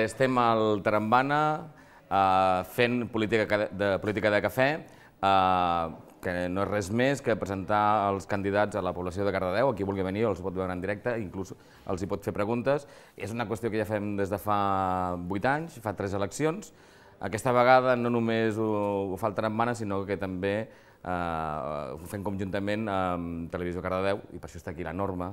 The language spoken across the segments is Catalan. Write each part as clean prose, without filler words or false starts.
estem al Tarambana fent política de cafè, que no és res més que presentar els candidats a la població de Cardedeu. Qui vulgui venir els pot veure en directe, inclús els hi pot fer preguntes. És una qüestió que ja fem des de fa 8 anys, fa 3 eleccions. Aquesta vegada no només ho fa el Tarambana, sinó que també ho fem conjuntament amb Televisió Cardedeu, i per això està aquí la Norma.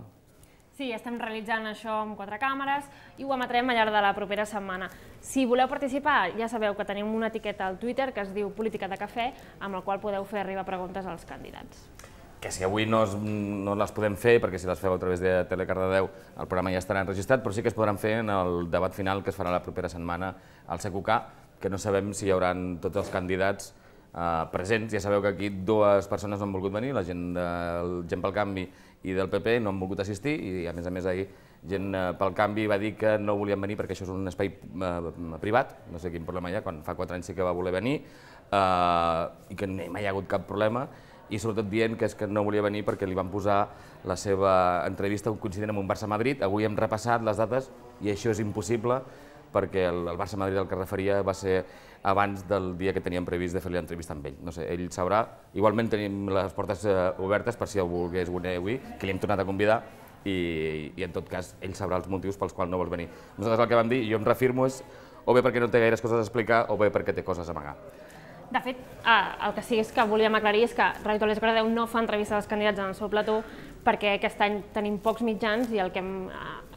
Sí, estem realitzant això amb 4 càmeres i ho emetrem al llarg de la propera setmana. Si voleu participar, ja sabeu que tenim una etiqueta al Twitter que es diu Política de Cafè, amb la qual podeu fer arribar preguntes als candidats. Que si avui no les podem fer, perquè si les feu a través de Telecardedeu el programa ja estarà enregistrat, però sí que es podran fer en el debat final que es farà la propera setmana al CQK, que no sabem si hi haurà tots els candidats presents. Ja sabeu que aquí 2 persones no han volgut venir, la gent del Gent pel Canvi i del PP no han volgut assistir, i a més ahir Gent pel Canvi va dir que no volien venir perquè això és un espai privat, no sé quin problema hi ha, quan fa 4 anys sí que va voler venir, i que mai hi ha hagut cap problema, i sobretot dient que és que no volia venir perquè li van posar la seva entrevista coincident amb un Barça-Madrid. Avui hem repassat les dates i això és impossible, perquè el Barça-Madrid al que referia va ser abans del dia que teníem previst de fer l'entrevista amb ell. No sé, ell sabrà. Igualment tenim les portes obertes per si el volgués venir avui, que li hem tornat a convidar, i en tot cas ell sabrà els motius pels quals no vols venir. Nosaltres el que vam dir, i jo em reafirmo, és o bé perquè no té gaires coses a explicar o bé perquè té coses a amagar. De fet, el que sí que volíem aclarir és que Ràdio Televisió Cardedeu no fa entrevistes als candidats en el seu plató perquè aquest any tenim pocs mitjans i el que hem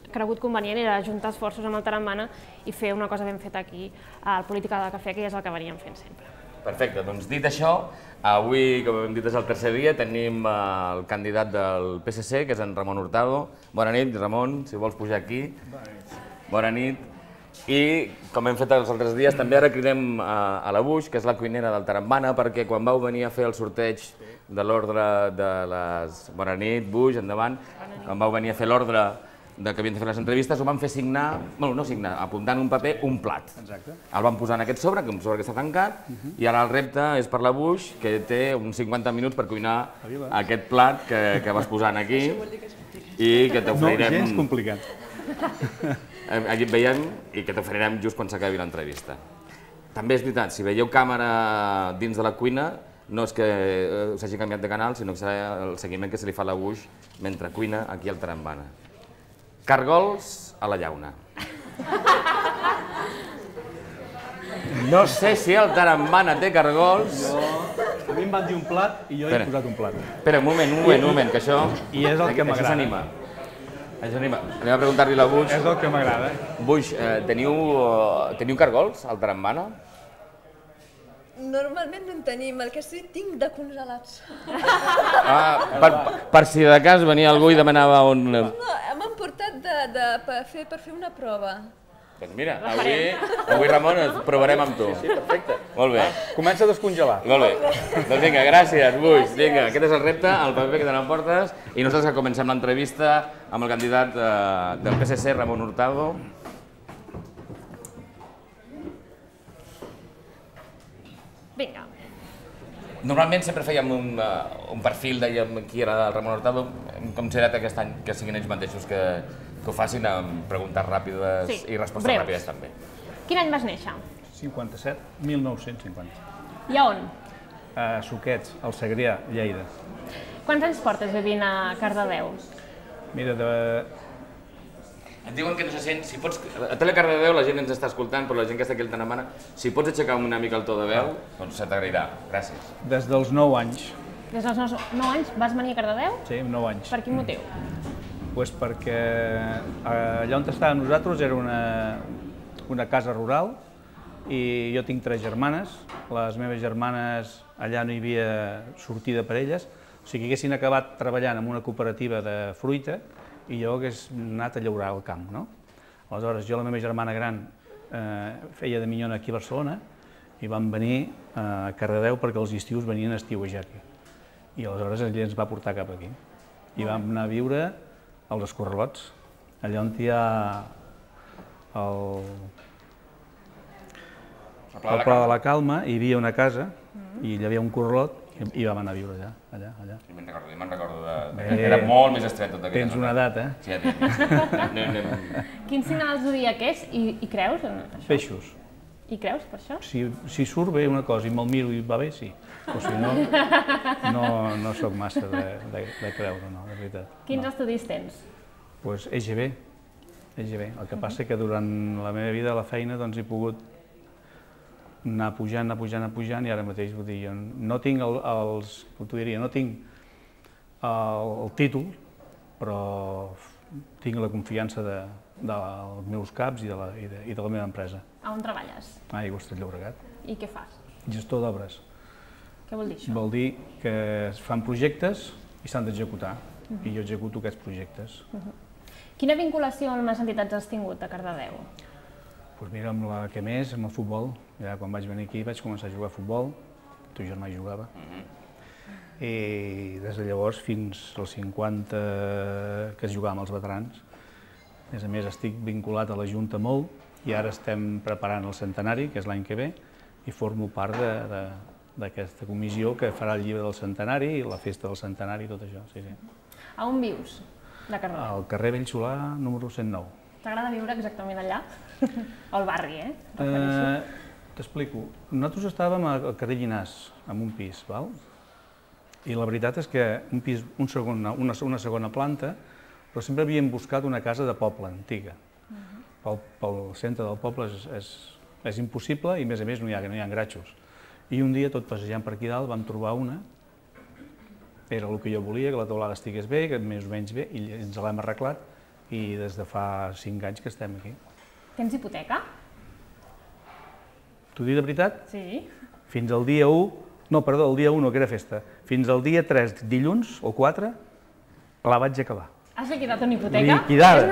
cregut convenient era ajuntar esforços amb el Tarambana i fer una cosa ben feta aquí al Política de Cafè, que ja és el que veníem fent sempre. Perfecte, doncs dit això, avui, com hem dit, és el tercer dia, tenim el candidat del PSC, que és en Ramon Hurtado. Bona nit, Ramon, si vols pujar aquí. Bona nit. I, com hem fet els altres dies, també ara cridem a la Buix, que és la cuinera del Tarambana, perquè quan vau venir a fer el sorteig de l'ordre de les... Bona nit, Buix, endavant. Quan vau venir a fer l'ordre que havien de fer les entrevistes, ho van fer signar, no signar, apuntar en un paper un plat. Exacte. El van posar en aquest sobre, que és un sobre que està tancat, i ara el repte és per la Buix, que té uns 50 minuts per cuinar aquest plat que vas posant aquí i que t'oferirem... No, gens complicat. Aquí et veiem i que t'oferirem just quan s'acabi l'entrevista. També és veritat, si veieu càmera dins de la cuina, no és que s'hagi canviat de canal, sinó que serà el seguiment que se li fa a la Buix mentre cuina aquí al Tarambana. Cargols a la llauna. No sé si el Tarambana té cargols. A mi em van dir un plat i jo he posat un plat. Espera, un moment, que això... I és el que m'agrada. Això s'anima. Anem a preguntar-li a la Buix. És el que m'agrada. Buix, teniu cargols al Tarambana? Normalment no en tenim, el que sí tinc de congelats. Per si de cas venia algú i demanava on... No, m'han portat per fer una prova. Doncs mira, avui Ramon, ens provarem amb tu. Sí, perfecte. Molt bé. Comença a descongelar. Molt bé. Doncs vinga, gràcies, Buix. Vinga, aquest és el repte, el paper que te n'emportes, i nosaltres que comencem l'entrevista amb el candidat del PSC, Ramon Hurtado. Vinga. Normalment sempre fèiem un perfil, dèiem qui era el Ramon Hurtado. Hem considerat aquest any que siguin ells mateixos que ho facin amb preguntes ràpides i respostes ràpides també. Quin any vas néixer? 57, 1950. I a on? A Suquets, al Segrià, Lleida. Quants anys portes vivint a Cardedeu? Mira, Et diuen que no se sent, si pots... A Telecardedeu la gent ens està escoltant, però la gent que està aquí al Tarambana, si pots aixecar una mica el to de veu, doncs se t'agrairà. Gràcies. Des dels 9 anys. Des dels 9 anys vas venir a Cardedeu? Sí, 9 anys. Per quin motiu? Doncs perquè allà on estàvem nosaltres era una casa rural i jo tinc 3 germanes. Les meves germanes allà no hi havia sortida per elles, o sigui que haguessin acabat treballant en una cooperativa de fruita i jo hagués anat a llaurar al camp, no? Aleshores, jo, la meva germana gran, feia de minyona aquí a Barcelona i vam venir a Cardedeu perquè els estius venien a estiuejar aquí. I aleshores ell ens va portar cap aquí. I vam anar a viure als Escorralots, allà on hi ha el Pla de la Calma, hi havia una casa i hi havia un corralot I vam anar a viure allà. Me'n recordo era molt més estret tot aquest. Tens una edat, eh? Sí, ja tinc. Quin signal zodíac és i creus en això? Peixos. I creus per això? Si surt bé una cosa i me'l miro i va bé, sí. O si no, no sóc massa de creure, no, de veritat. Quins estudis tens? Doncs EGB. El que passa que durant la meva vida a la feina he pogut anar pujant i ara mateix, vull dir, no tinc no tinc el títol, però tinc la confiança dels meus caps i de la meva empresa. A on treballes? A Aigües de Llobregat. I què fas? Gestor d'obres. Què vol dir això? Vol dir que es fan projectes i s'han d'executar, i jo executo aquests projectes. Quina vinculació amb les entitats has tingut a Cardedeu? Doncs mira, amb la que més, amb el futbol. Ja quan vaig venir aquí vaig començar a jugar a futbol, el teu germà hi jugava. I des de llavors fins als 50 que es jugava amb els veterans. A més, estic vinculat a la Junta molt i ara estem preparant el centenari, que és l'any que ve, i formo part d'aquesta comissió que farà el llibre del centenari i la festa del centenari i tot això. A on vius, de Cardedeu? Al carrer Bellsolà, número 109. T'agrada viure exactament allà? Al barri, T'explico. Nosaltres estàvem al carrer Llinàs, en un pis, i la veritat és que una segona planta, però sempre havíem buscat una casa de poble, antiga. Pel centre del poble és impossible i, a més, no hi ha gratxos. I un dia, tot passejant per aquí dalt, vam trobar una. Era el que jo volia, que la teulada estigués bé, que més o menys bé, i ens l'hem arreglat, i des de fa 5 anys que estem aquí. Tens hipoteca? T'ho dic de veritat? Sí. Fins al dia 1, no, perdó, el dia 1 no, que era festa, fins al dia 3, dilluns o 4, la vaig acabar. Has liquidat una hipoteca? Liquidada!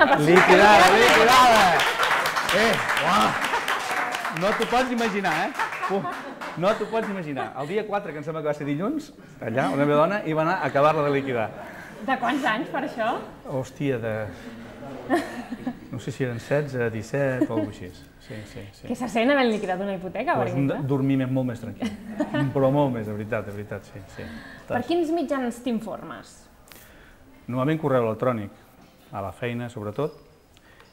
No t'ho pots imaginar, No t'ho pots imaginar. El dia 4, que em sembla que va ser dilluns, allà, la meva dona hi va anar a acabar-la de liquidar. De quants anys, per això? Hòstia, no sé si eren 16, 17 o alguna cosa així. Sí. Què se sent havent liquidat una hipoteca, per exemple? Dormir molt més tranquil, però molt més, de veritat, sí. Per quins mitjans t'informes? Normalment correu electrònic, a la feina sobretot,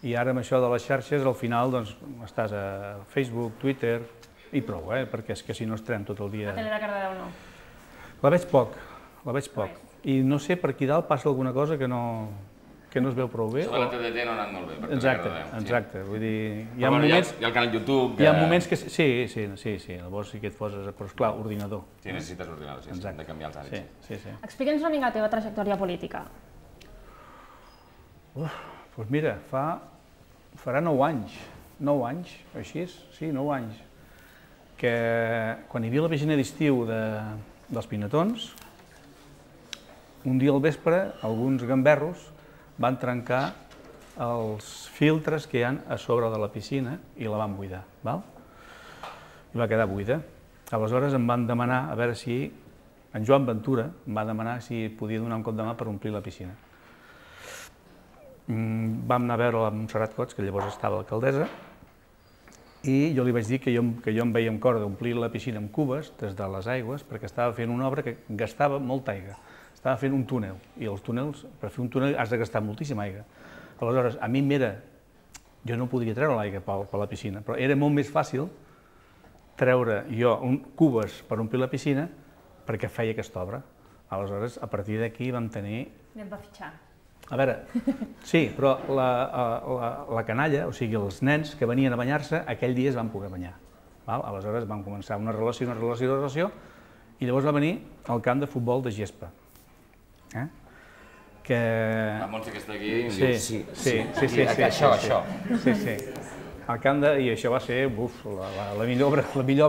i ara amb això de les xarxes al final estàs a Facebook, Twitter, i prou, perquè és que si no estarem tot el dia... La tele de Cardedeu no? La veig poc, i no sé per aquí dalt passa alguna cosa que no es veu prou bé. Sobre la TDT no ha anat molt bé, per Exacte, vull dir... Hi ha el canal YouTube... Hi ha moments que... Sí, llavors sí que et poses... Però esclar, ordinador. Sí, necessites ordinador, sí, hem de canviar els hàbits. Sí. Explica'ns una mica la teva trajectòria política. Doncs mira, farà 9 anys, així, sí, 9 anys, que quan hi havia la piscina d'estiu dels Pinatons, un dia al vespre, alguns gamberros van trencar els filtres que hi ha a sobre de la piscina i la van buidar, i va quedar buida. Aleshores em van demanar, a veure si, en Joan Ventura em va demanar si podia donar un cop de mà per omplir la piscina. Vam anar a veure la Montserrat Cots, que llavors estava alcaldessa, i jo li vaig dir que jo em veia amb cor d'omplir la piscina amb cubes des de les aigües perquè estava fent una obra que gastava molta aigua. Estava fent un túnel, i els túnels, per fer un túnel has de gastar moltíssima aigua. Aleshores, a mi jo no podria treure l'aigua per la piscina, però era molt més fàcil treure jo cubes per omplir la piscina perquè feia aquesta obra. Aleshores, a partir d'aquí vam tenir... Anem a fitxar. A veure, sí, però la canalla, o sigui, els nens que venien a banyar-se, aquell dia es van poder banyar. Aleshores vam començar una relació, i llavors va venir el camp de futbol de gespa. La Montse que està aquí i em diu Sí. Això. El camp de... I això va ser la millor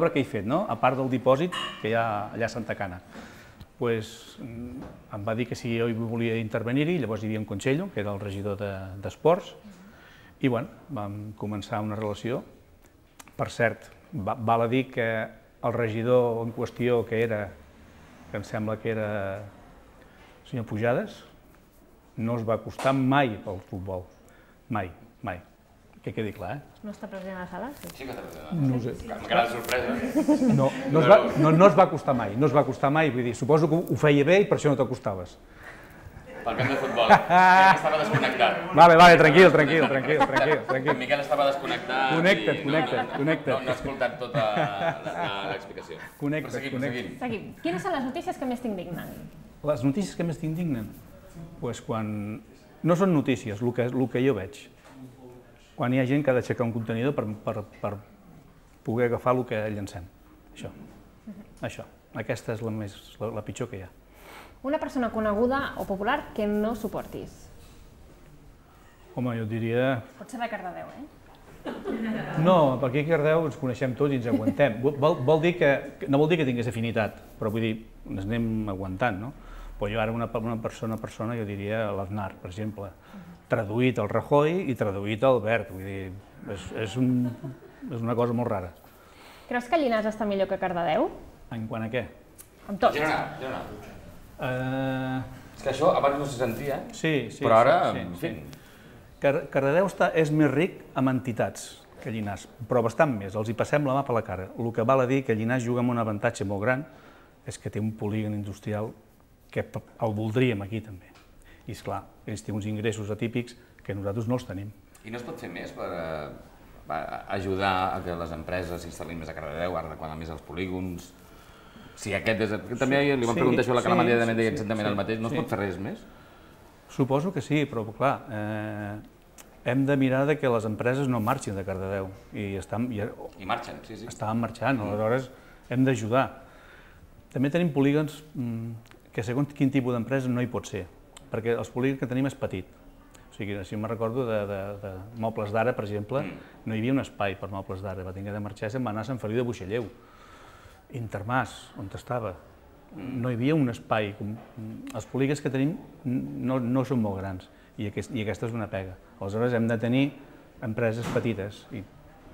obra que he fet, no? A part del dipòsit que hi ha allà a Santa Cana. Em va dir que si jo hi volia intervenir-hi, llavors hi havia en Consello, que era el regidor d'Esports, i vam començar una relació. Per cert, val a dir que el regidor en qüestió que em sembla que era el senyor Pujades, no es va acostar mai pel futbol, mai. que quedi clar, No està present a la sala? Sí. Sí que està present. No ho sé. Encara la sorpresa. No es va acostar mai, no es va acostar mai, vull dir, suposo que ho feia bé i per això no t'acostaves. Pel camp de futbol. Miquel estava desconnectat. Vale, tranquil. En Miquel estava desconnectat. Connecta't. No ha escoltat tota l'explicació. Connecta't. Seguim. Quines són les notícies que més t'indignen? Les notícies que més t'indignen? Doncs quan... No són notícies, el que jo veig. Quan hi ha gent que ha d'aixecar un contenidor per poder agafar el que llancem. Això. Aquesta és la pitjor que hi ha. Una persona coneguda o popular que no suportis. Home, jo diria... Pot ser de Cardedeu, No, perquè aquí a Cardedeu ens coneixem tots i ens aguantem. No vol dir que tingués afinitat, però vull dir, ens anem aguantant, no? Però jo ara una persona, jo diria l'Aznar, per exemple, traduït al Rajoy i traduït al Albert, vull dir, és una cosa molt rara. Creus que Llinars està millor que Cardedeu? En quant a què? Amb tot. Girona. És que això abans no se sentia, però ara, en fi... Cardedeu és més ric amb entitats que Llinars, però bastant més, els hi passem la mà per la cara. El que val a dir que Llinars juga amb un avantatge molt gran és que té un polígon industrial que el voldríem aquí també. I esclar, ells tenen uns ingressos atípics que nosaltres no els tenim. I no es pot fer més per ajudar a que les empreses s'instal·lin més a Cardedeu, ara quan més els polígons? Si aquest és... També li vam preguntar això a la Calamanda i deia exactament el mateix, no es pot fer res més? Suposo que sí, però clar, hem de mirar que les empreses no marxin de Cardedeu. I marxen, sí. Estaven marxant, aleshores hem d'ajudar. També tenim polígons que segons quin tipus d'empresa no hi pot ser, perquè els polígons que tenim és petit. O sigui, si me'n recordo de Mobles d'Ara, per exemple, no hi havia un espai per Mobles d'Ara, va haver de marxar i se'n va anar a Sant Feliu de Buixalleu. Intermàs, on estava, no hi havia un espai. Els polígons que tenim no són molt grans i aquesta és una pega. Aleshores hem de tenir empreses petites i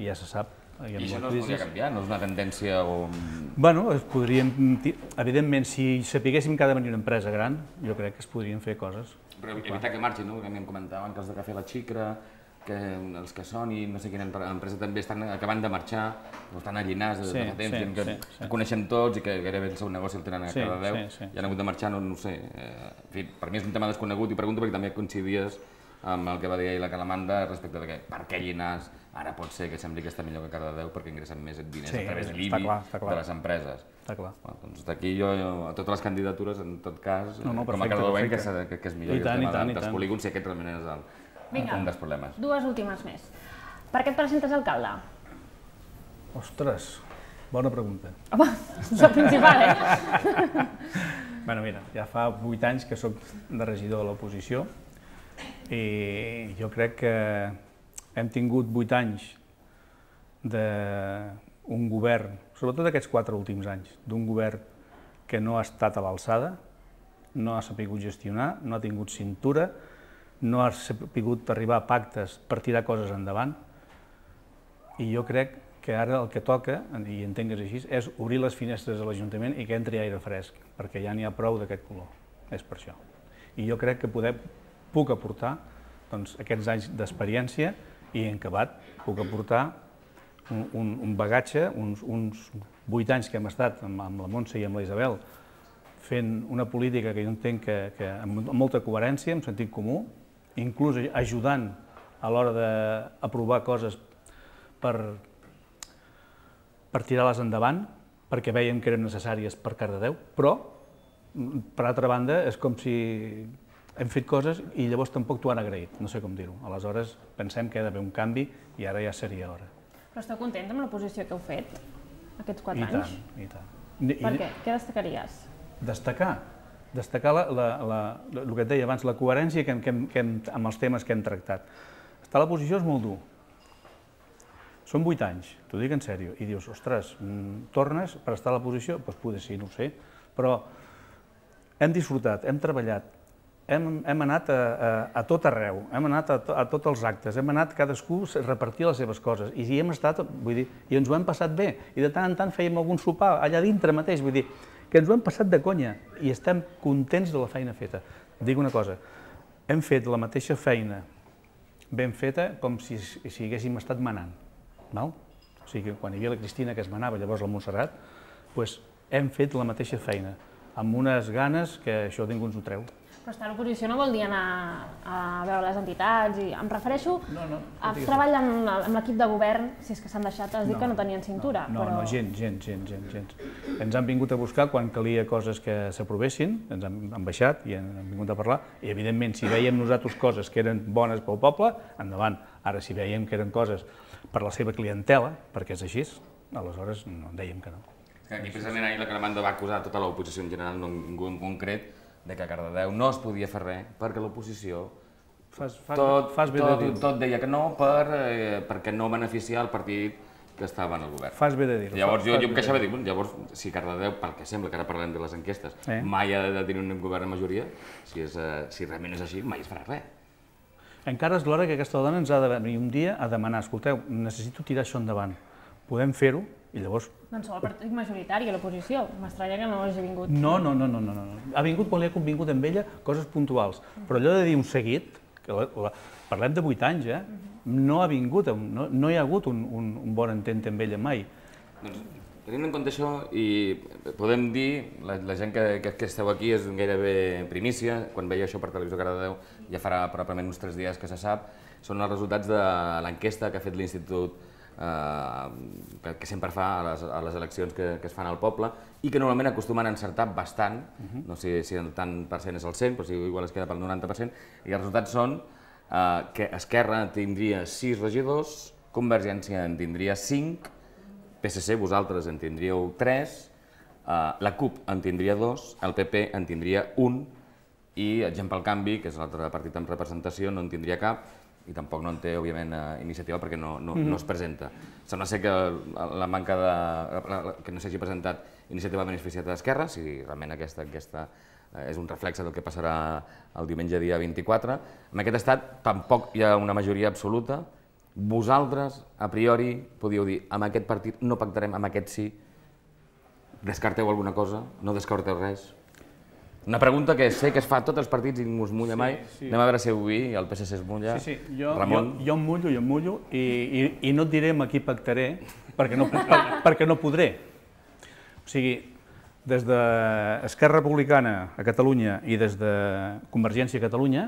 ja se sap. I això no es podria canviar? No és una tendència o... Bueno, evidentment, si sapiguéssim que ha de venir una empresa gran, jo crec que es podrien fer coses. Però evitar que marxin, no? Perquè a mi em comentaven que els de Cafè La Xicra, que els que són i no sé quina empresa també estan acabant de marxar, o estan a Llinars de fa temps, que coneixem tots i que gairebé el seu negoci el tenen a Cardedeu i han hagut de marxar, no ho sé. En fi, per mi és un tema desconegut i pregunto perquè també coincidies amb el que va dir ahir la Calamanda respecte de que per què Llinars ara pot ser que sembli que està millor que Cardedeu perquè ingressen més diners a través de l'IBI de les empreses. Està clar. Doncs d'aquí jo, a totes les candidatures, en tot cas, com a cardedeuenc, que és millor que el tema dels polígons, si aquest realment és un dels problemes. Dues últimes més. Per què et presentes alcalde? Ostres, bona pregunta. Home, és el principal, Bé, mira, ja fa 8 anys que soc de regidor de l'oposició i jo crec que hem tingut 8 anys d'un govern, sobretot aquests 4 últims anys, d'un govern que no ha estat a l'alçada, no ha sabut gestionar, no ha tingut cintura, no ha sabut arribar a pactes per tirar coses endavant i jo crec que ara el que toca, i entenc que és així, és obrir les finestres de l'Ajuntament i que entri aire fresc, perquè ja n'hi ha prou d'aquest color, és per això. I jo crec que puc aportar aquests anys d'experiència i en acabat puc aportar un bagatge, uns 8 anys que hem estat amb la Montse i amb la Isabel fent una política que jo entenc que amb molta coherència, amb sentit comú, inclús ajudant a l'hora d'aprovar coses per tirar-les endavant, perquè veiem que eren necessàries per Cardedeu, però, per altra banda, és com si hem fet coses i llavors tampoc t'ho han agraït, no sé com dir-ho. Aleshores, pensem que ha d'haver un canvi i ara ja seria hora. Però esteu contents amb la posició que heu fet aquests 4 anys? I tant. Per què? Què destacaries? Destacar el que et deia abans, la coherència amb els temes que hem tractat. Estar a la posició és molt dur. Són 8 anys, t'ho dic en sèrio, i dius, ostres, tornes per estar a la posició? Doncs potser sí, no ho sé, però hem disfrutat, hem treballat, hem anat a tot arreu, hem anat a tots els actes, hem anat cadascú a repartir les seves coses, i hem estat, vull dir, i ens ho hem passat bé, i de tant en tant fèiem algun sopar allà dintre mateix, vull dir, que ens ho hem passat de conya, i estem contents de la feina feta. Dic una cosa, hem fet la mateixa feina ben feta com si haguéssim estat manant. O sigui, quan hi havia la Cristina que es manava, llavors la Montserrat, hem fet la mateixa feina, amb unes ganes que això ningú ens ho treu. Però estar a l'oposició no vol dir anar a veure les entitats, i em refereixo a treballar amb l'equip de govern, si és que s'han deixat, has dit que no tenien cintura. No, gens. Ens han vingut a buscar quan calia coses que s'aprovessin, ens han baixat i han vingut a parlar, i evidentment si veiem nosaltres coses que eren bones pel poble, endavant. Ara si veiem que eren coses per la seva clientela, perquè és així, aleshores dèiem que no. Aquí precisament ahir la Calamanda va acusar tota l'oposició en general, no ningú en concret, de que a Cardedeu no es podia fer res perquè l'oposició tot deia que no perquè no beneficiar el partit que estava en el govern. Fas bé de dir-ho. Llavors jo em queixava de dir, llavors si Cardedeu, pel que sembla, que ara parlem de les enquestes, mai ha de tenir un govern de majoria, si realment és així, mai es farà res. Encara és l'hora que aquesta dona ens ha de venir un dia a demanar, escolteu, necessito tirar això endavant, podem fer-ho? I llavors... Doncs sou el partit majoritari a l'oposició, m'estranya que no hagi vingut. No. Ha vingut quan li ha convingut amb ella coses puntuals, però allò de dir un seguit, parlem de 8 anys, no ha vingut, no hi ha hagut un bon entente amb ella mai. Doncs tenint en compte això, i podem dir, la gent que esteu aquí és gairebé primícia, quan veia això per Televisió Cardedeu, ja farà probablement uns 3 dies que se sap, són els resultats de l'enquesta que ha fet l'Institut que sempre fa a les eleccions que es fan al poble i que normalment acostumen a encertar bastant, no sé si el tant per cent és el 100, però si igual es queda pel 90%, i els resultats són que Esquerra tindria 6 regidors, Convergència en tindria 5, PSC, vosaltres en tindríeu 3, la CUP en tindria 2, el PP en tindria 1 i Gent pel Canvi, que és l'altre partit amb representació, no en tindria cap, i tampoc no en té, òbviament, iniciativa perquè no es presenta. Sembla ser que la manca que no s'hagi presentat iniciativa beneficiat d'Esquerra, si realment aquesta enquesta és un reflexe del que passarà el diumenge dia 24. En aquest estat tampoc hi ha una majoria absoluta. Vosaltres, a priori, podíeu dir, amb aquest partit no pactarem, amb aquest sí. Descarteu alguna cosa? No descarteu res? Una pregunta que sé que es fa a tots els partits i ningú es mulla mai. Anem a veure si avui el PSC es mulla. Ramon? Jo em mullo i no et diré amb qui pactaré perquè no podré. O sigui, des d'Esquerra Republicana a Catalunya i des de Convergència a Catalunya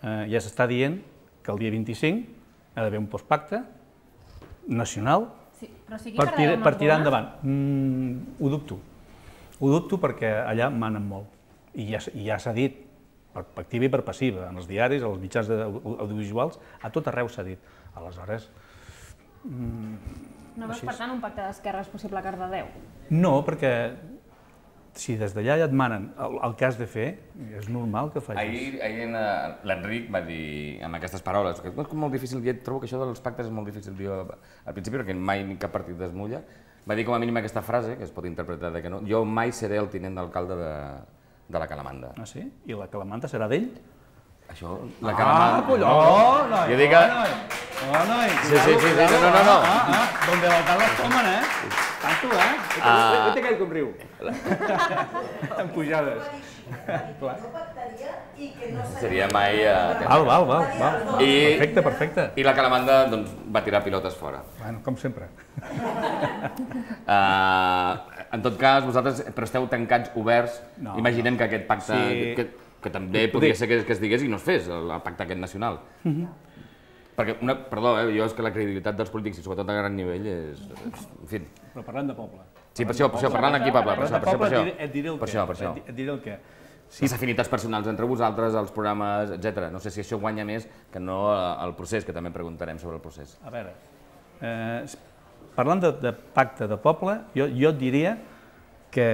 ja s'està dient que el dia 25 ha d'haver un postpacte nacional per tirar endavant. Ho dubto. Ho dubto perquè allà manen molt. I ja s'ha dit, per activa i per passiva, en els diaris, als mitjans audiovisuals, a tot arreu s'ha dit. Aleshores... No veus, per tant, un pacte d'esquerres possible a Cardedeu? No, perquè si des d'allà ja et manen el que has de fer, és normal que facis. Ahir l'Enric va dir, amb aquestes paroles, que és molt difícil, jo trobo que això dels pactes és molt difícil dir al principi, perquè mai cap partit es mulla, va dir com a mínim aquesta frase, que es pot interpretar de que no, jo mai seré el tinent d'alcalde de la Calamanda. Ah, sí? I la Calamanda serà d'ell? Això, la Calamanda... Ah, colló, noi! Jo dic que... noi! Sí, no. Donde l'alcalde es tomen, Tanto, Vete aquell com riu. En pujades. Seria mai... Val. Perfecte. I la Calamanda va tirar pilotes fora. Bueno, com sempre. En tot cas, vosaltres esteu tancats, oberts. Imaginem que aquest pacte, que també podria ser que es digués i no es fes, el pacte aquest nacional. Perquè, perdó, jo és que la credibilitat dels polítics, i sobretot a gran nivell, és... En fi... Però parlant de poble. Sí, per això, parlant aquí, Pablo, per això. Et diré el què. Les afinitats personals entre vosaltres, els programes, etc. No sé si això guanya més que no el procés, que també preguntarem sobre el procés. A veure, parlant de pacte de poble, jo et diria que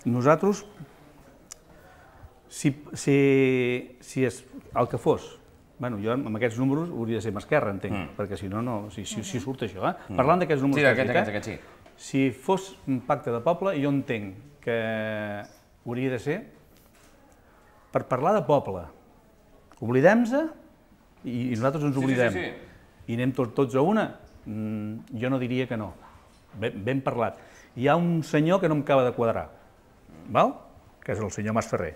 nosaltres, si és el que fos, jo amb aquests números hauria de ser amb Esquerra, entenc, perquè si no, si surt això. Parlant d'aquests números que has dit, si fos un pacte de poble, jo entenc que hauria de ser per parlar de poble. Oblidem-se i nosaltres ens oblidem. I anem tots a una. Jo no diria que no. Ben parlat. Hi ha un senyor que no em acaba de quadrar, que és el senyor Masferrer,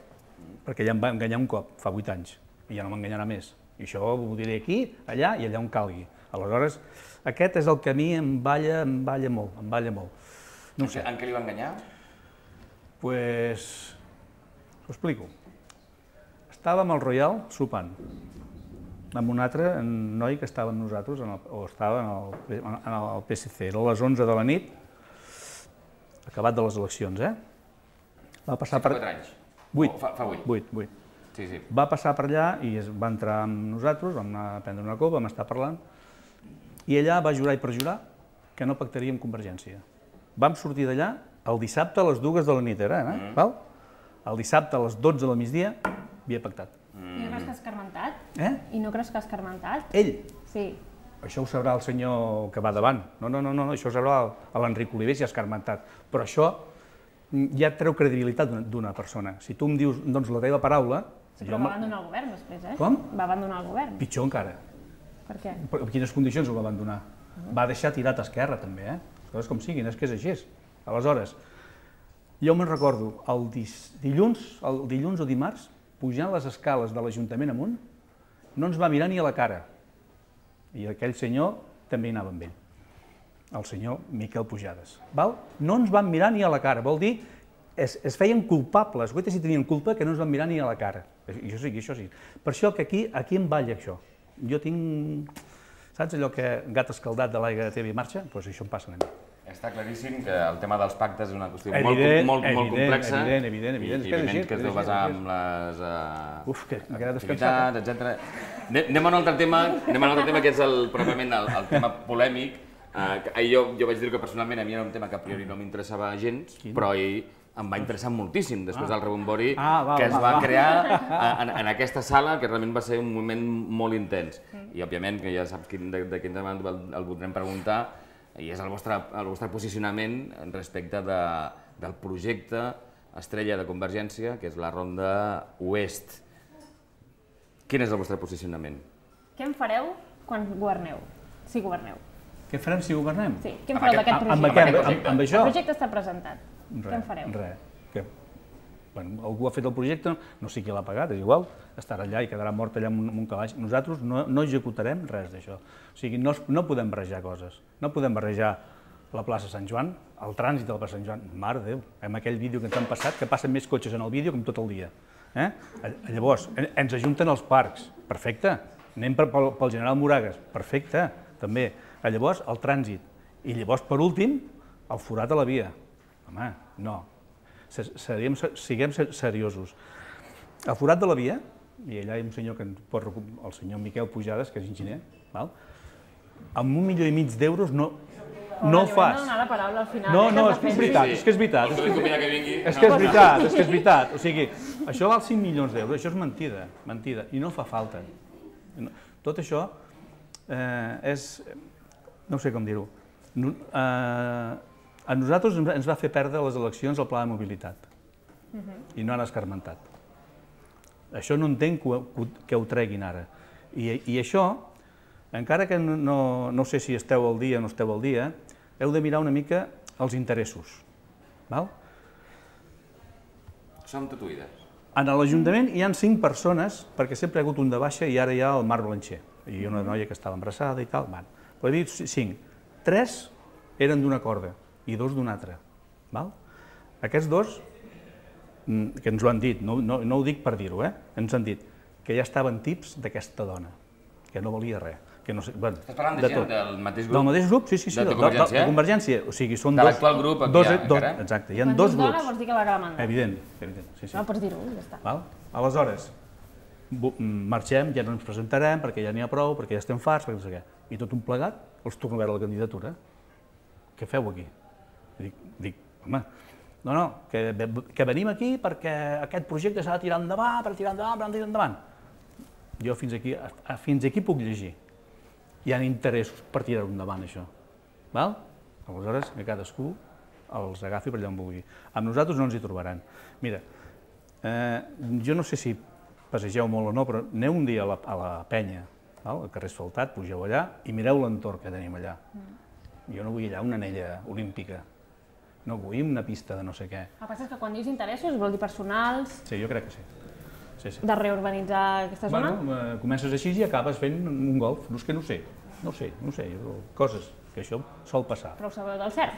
perquè ja em va enganyar un cop, fa 8 anys, i ja no m'enganyarà més. I això ho diré aquí, allà i allà on calgui. Aleshores, aquest és el que a mi em balla molt, em balla molt. No sé. En què li va enganyar? Pues, us ho explico. Estàvem al Royal sopant, amb un altre noi que estava amb nosaltres, o estava en el PSC. Era a les 11 de la nit, acabat de les eleccions, Va passar per... 4 anys? 8. Fa 8. 8. Sí. Va passar per allà i va entrar amb nosaltres, vam anar a prendre una copa, vam estar parlant, i allà va jurar i perjurar que no pactaria amb Convergència. Vam sortir d'allà el dissabte a les 2 de la nit, val? El dissabte a les 12 del migdia havia pactat. I no creus que ha escarmentat? I no creus que ha escarmentat? Ell? Sí. Això ho sabrà el senyor que va davant. No, això ho sabrà l'Enric Oliver si ha escarmentat. Però això ja treu credibilitat d'una persona. Si tu em dius, doncs, la teva paraula... Però va abandonar el govern després, Com? Va abandonar el govern. Pitjor encara. Per què? En quines condicions ho va abandonar? Va deixar tirat a esquerra, també, Les coses com siguin, és que és així. Aleshores, jo me'n recordo, el dilluns o dimarts, pujant les escales de l'Ajuntament amunt, no ens va mirar ni a la cara. I aquell senyor també hi anava amb ell. El senyor Miquel Pujades. No ens van mirar ni a la cara, vol dir, es feien culpables, guaita si tenien culpa que no ens van mirar ni a la cara. I això sí. Per això que aquí em balla això. Jo tinc, saps allò que gat escaldat de l'aigua de teva i marxa? Doncs això em passa a mi. Està claríssim que el tema dels pactes és una qüestió molt complexa. Evident. I evident que es deu basar en les activitats, etc. Anem a un altre tema, que és pròpiament el tema polèmic. Jo vaig dir que personalment a mi era un tema que a priori no m'interessava gens, però em va interessar moltíssim després del rebombori que es va crear en aquesta sala, que realment va ser un moment molt intens. I, òbviament, que ja saps de quin tema el voldrem preguntar, i és el vostre posicionament respecte del projecte estrella de Convergència, que és la Ronda Oest. Quin és el vostre posicionament? Què en fareu quan governeu, si governeu? Què farem si governem? Sí, què en fareu d'aquest projecte? Amb això? El projecte està presentat. Què en fareu? Res. Algú ha fet el projecte, no sé qui l'ha pagat, és igual, estarà allà i quedarà mort allà amb un calaix. Nosaltres no executarem res d'això. O sigui, no podem barrejar coses. No podem barrejar la plaça Sant Joan, el trànsit de la plaça Sant Joan. Mare de Déu, amb aquell vídeo que ens han passat, que passen més cotxes en el vídeo com tot el dia. Llavors, ens ajunten els parcs, perfecte. Anem pel General Moragas, perfecte, també. Llavors, el trànsit. I llavors, per últim, el forat a la via. Home, no. Siguem seriosos. El forat de la via, i allà hi ha un senyor que el senyor Miquel Pujades, que és enginyer, amb 1,5 milions d'euros no ho fas. No donar la paraula al final. No, és que és veritat. És que és veritat. O sigui, això val 5 milions d'euros, això és mentida, i no fa falta. Tot això és, no sé com dir-ho, a nosaltres ens va fer perdre les eleccions el pla de mobilitat i no han escarmentat. Això no entenc que ho treguin ara. I això, encara que no sé si esteu al dia o no esteu al dia, heu de mirar una mica els interessos. Som tatuïdes. En l'Ajuntament hi ha 5 persones, perquè sempre hi ha hagut un de baixa i ara hi ha el Marc Blancher, i una noia que estava embarassada i tal. Però he dit 5. 3 eren d'una corda i 2 d'una altra. Aquests 2, que ens ho han dit, no ho dic per dir-ho, ens han dit que ja estaven tips d'aquesta dona, que no valia res. Estàs parlant de gent del mateix grup? Del mateix grup, sí, de Convergència. O sigui, són dos... De l'actual grup encara? Exacte, hi ha 2 grups. Quan dona vols dir que la mandat. Evident. No, pots dir-ho, ja està. Aleshores, marxem, ja no ens presentarem perquè ja n'hi ha prou, perquè ja estem farts, perquè no sé què. I tot un plegat, els torno a veure la candidatura. Què feu aquí? Dic, home, no, que venim aquí perquè aquest projecte s'ha de tirar endavant, per tirar endavant. Jo fins aquí puc llegir. Hi ha interessos per tirar-ho endavant, això. Aleshores, que cadascú els agafi per allà on vulgui. Amb nosaltres no ens hi trobaran. Mira, jo no sé si passegeu molt o no, però aneu un dia a la penya, al carrer asfaltat, pugeu allà i mireu l'entorn que tenim allà. Jo no vull allà una anella olímpica, no vull una pista de no sé què. El que passa és que quan dius interessos vol dir personals... Sí, jo crec que sí. de reurbanitzar aquesta zona? Bueno, comences així i acabes fent un golf. No és que no sé, coses, que això sol passar. Però ho sabeu del cert?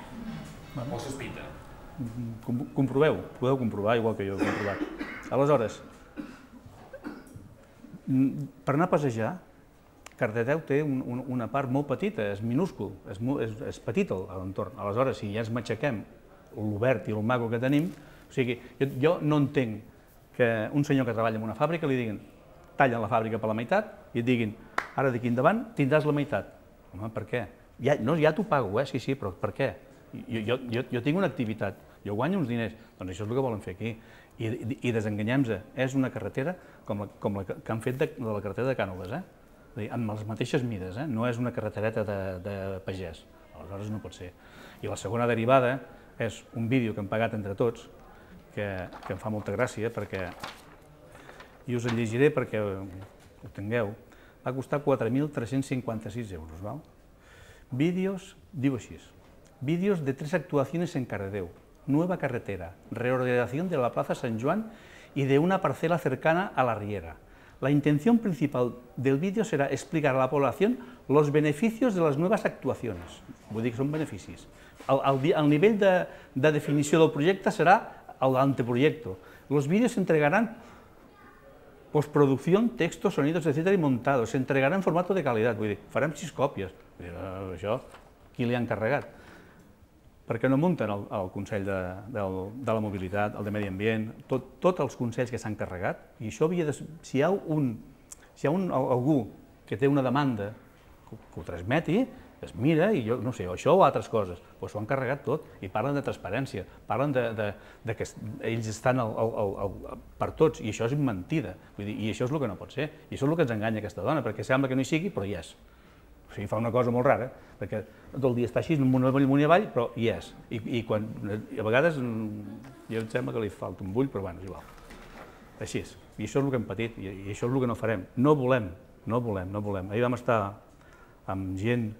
O sospita? Comproveu, podeu comprovar, igual que jo he comprovat. Aleshores, per anar a passejar, Cardedeu té una part molt petita, és minúscul, és petit l'entorn. Aleshores, si ja ens matxaquem l'obert i el maco que tenim, o sigui, jo no entenc que un senyor que treballa en una fàbrica li diguin tallen la fàbrica per la meitat i et diguin ara d'aquí endavant tindràs la meitat. Home, per què? Ja t'ho pago, sí, però per què? Jo tinc una activitat, jo guanyo uns diners, doncs això és el que volen fer aquí. I desenganyem-se, és una carretera com la que han fet de la carretera de Cànoves, amb les mateixes mides, no és una carretereta de pagès, aleshores no pot ser. I la segona derivada és un vídeo que hem pagat entre tots, que em fa molta gràcia, perquè, i us el llegiré perquè ho tingueu, va costar 4.356 euros, val? Vídeos, diu així, vídeos de 3 actuaciones en Cardedeu, nueva carretera, reordenación de la Plaza San Juan y de una parcela cercana a la Riera. La intención principal del vídeo será explicar a la población los beneficios de las nuevas actuaciones. Vull dir que són beneficis. El nivell de definició del projecte serà el anteproyecto. Los vídeos se entregarán postproducción, textos, sonidos, etc. y montados. Se entregará en formato de calidad. Vull dir, farem 6 còpies. Això, qui li ha encarregat? Per què no munten el Consell de la Mobilitat, el de Medi Ambient, tots els consells que s'han carregat? I això havia de... Si hi ha algú que té una demanda, que ho transmeti, es mira i jo no sé, això o altres coses, però s'ho han carregat tot i parlen de transparència, parlen de que ells estan per tots i això és mentida, i això és el que no pot ser, i això és el que ens enganya aquesta dona, perquè sembla que no hi sigui, però hi és. O sigui, fa una cosa molt rara, perquè tot el dia està així, amunt i avall, però hi és. I a vegades jo em sembla que li falta un bull, però bueno, és igual. Així és. I això és el que hem patit, i això és el que no farem. No volem. Ahir vam estar amb gent,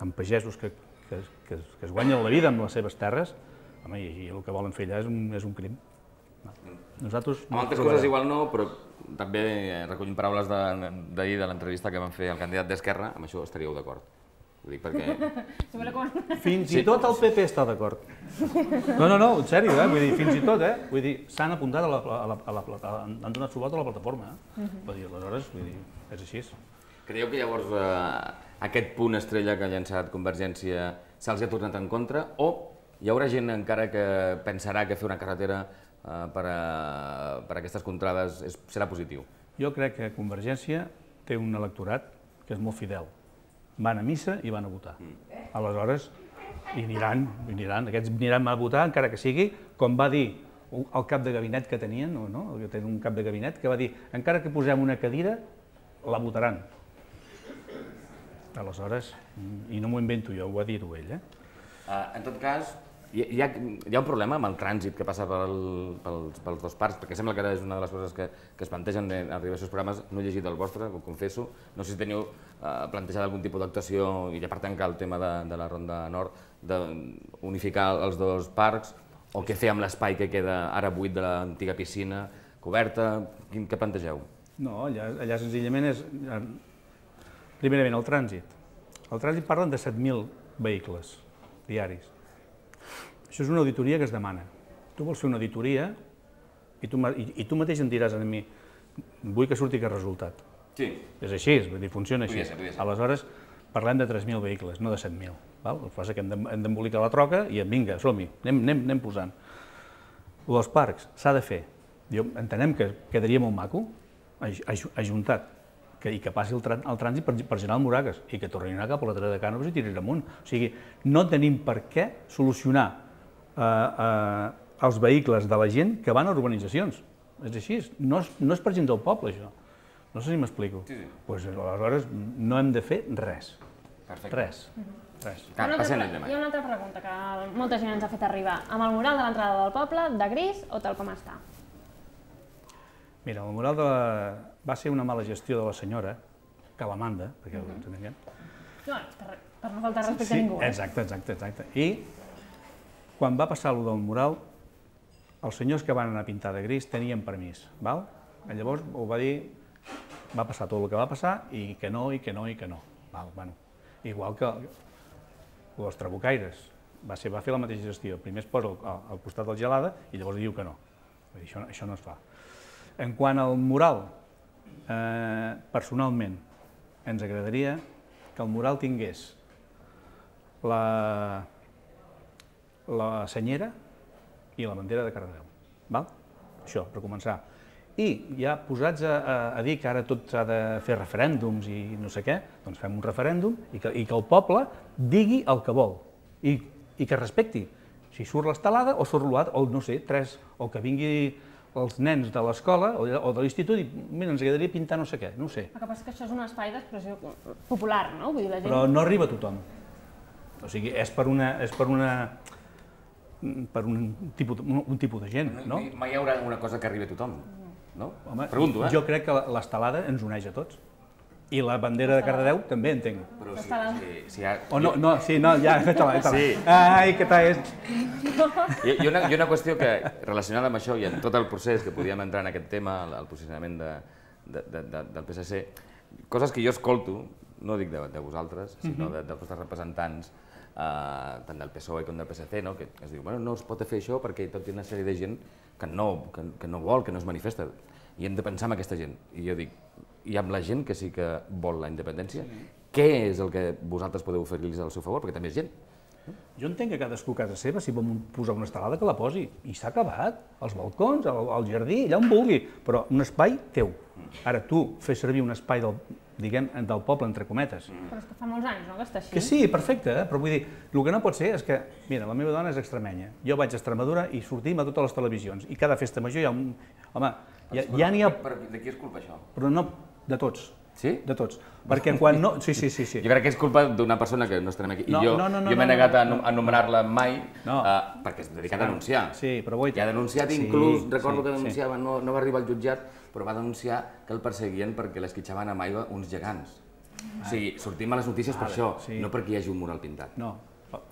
amb pagesos que es guanyen la vida amb les seves terres, home, i el que volen fer allà és un crim. Nosaltres... Amb altres coses igual no, però també recollint paraules d'ahir de l'entrevista que van fer al candidat d'Esquerra, amb això estaríeu d'acord. Ho dic perquè... Fins i tot el PP està d'acord. No, en sèrio, vull dir, fins i tot, vull dir, s'han apuntat han donat suport a la plataforma, vull dir, aleshores, vull dir, és així. Creieu que llavors aquest punt estrella que ha llançat Convergència se'ls ha tornat en contra o hi haurà gent encara que pensarà que fer una carretera per a aquestes contrades serà positiu? Jo crec que Convergència té un electorat que és molt fidel. Van a missa i van a votar. Aleshores, hi aniran, aquests aniran a votar encara que sigui, com va dir el cap de gabinet que tenien, que tenen un cap de gabinet, que va dir, encara que posem una cadira, la votaran. Aleshores, i no m'ho invento jo, ho va dir-ho ell. En tot cas, hi ha un problema amb el trànsit que passa pels dos parcs, perquè sembla que ara és una de les coses que es plantegen en els diversos programes. No he llegit el vostre, ho confesso. No sé si teniu plantejat algun tipus d'actuació, i ja per tancar el tema de la Ronda Nord, d'unificar els dos parcs, o què fer amb l'espai que queda ara buit de l'antiga piscina coberta, què plantegeu? No, allà senzillament és... Primerament, el trànsit. El trànsit parlen de 7.000 vehicles diaris. Això és una auditoria que es demana. Tu vols fer una auditoria i tu mateix em diràs a mi vull que surti aquest resultat. Sí. És així, funciona així. Aleshores, parlem de 3.000 vehicles, no de 7.000. El que passa és que hem d'embolicar la troca i vinga, som-hi, anem posant. El dels parcs s'ha de fer. Entenem que quedaria molt maco, ajuntat, i que passi el trànsit per General Moragues i que torni a anar cap a la Terra de Cànoves i tirar amunt. O sigui, no tenim per què solucionar els vehicles de la gent que van a urbanitzacions. És així, no és per gent del poble, això. No sé si m'explico. Doncs aleshores no hem de fer res. Res. Hi ha una altra pregunta que molta gent ens ha fet arribar. Amb el mural de l'entrada del poble, de gris o tal com està? Mira, el mural va ser una mala gestió de la senyora, que la manda, perquè ho entenem. No, per no faltar respecte a ningú. Exacte. I quan va passar allò del mural, els senyors que van anar a pintar de gris tenien permís, val? Llavors ho va dir, va passar tot el que va passar i que no, i que no, i que no. Igual que els trabucaires, va fer la mateixa gestió. Primer es posa al costat del Gelada i llavors diu que no. Això no es fa. En quant al mural, personalment, ens agradaria que el mural tingués la senyera i la bandera de Cardedeu. Això, per començar. I ja posats a dir que ara tot s'ha de fer referèndums i no sé què, doncs fem un referèndum i que el poble digui el que vol i que respecti. Si surt l'estelada o surt l'altre, o no sé, o que vingui els nens de l'escola o de l'institut i mira, ens agradaria pintar no sé què, no ho sé. El que passa és que això és un espai d'expressió popular, no? Vull dir, la gent... Però no arriba a tothom. O sigui, és per un tipus de gent, no? Mai hi haurà una cosa que arribi a tothom, no? Home, pregunto, jo crec que l'estelada ens uneix a tots. I la bandera de Cardedeu també, entenc. Però si hi ha... Ja, fet-la. Ai, que tal és? Hi ha una qüestió que, relacionada amb això i en tot el procés que podíem entrar en aquest tema, el posicionament del PSC, coses que jo escolto, no dic de vosaltres, sinó dels vostres representants, tant del PSOE com del PSC, que es diu, no es pot fer això perquè tot hi ha una sèrie de gent que no vol, que no es manifesta, i hem de pensar en aquesta gent. I jo dic, i amb la gent que sí que vol la independència, què és el que vosaltres podeu oferir-los al seu favor? Perquè també és gent. Jo entenc que cadascú a casa seva, si vol posar una estelada, que la posi. I s'ha acabat. Els balcons, al jardí, allà on vulgui. Però un espai teu. Ara tu fes servir un espai del poble, entre cometes. Però és que fa molts anys, no?, que està així. Que sí, perfecte, però vull dir, el que no pot ser és que, mira, la meva dona és extremenya, jo vaig a Extremadura i sortim a totes les televisions, i cada festa major hi ha un... Home, ja n'hi ha... De qui és culpa, això? Però no, de tots. Sí? De tots. Perquè quan no... Sí. Jo crec que és culpa d'una persona que no estarem aquí. I jo m'he negat a anomenar-la mai perquè és dedicat a denunciar. Sí, però vull... I ha denunciat, inclús, recordo que denunciava, no va arribar al jutjat, però va denunciar que el perseguien perquè l'esquitxaven amb aigua uns gegants. O sigui, sortim a les notícies per això, no perquè hi hagi un mural pintat. No.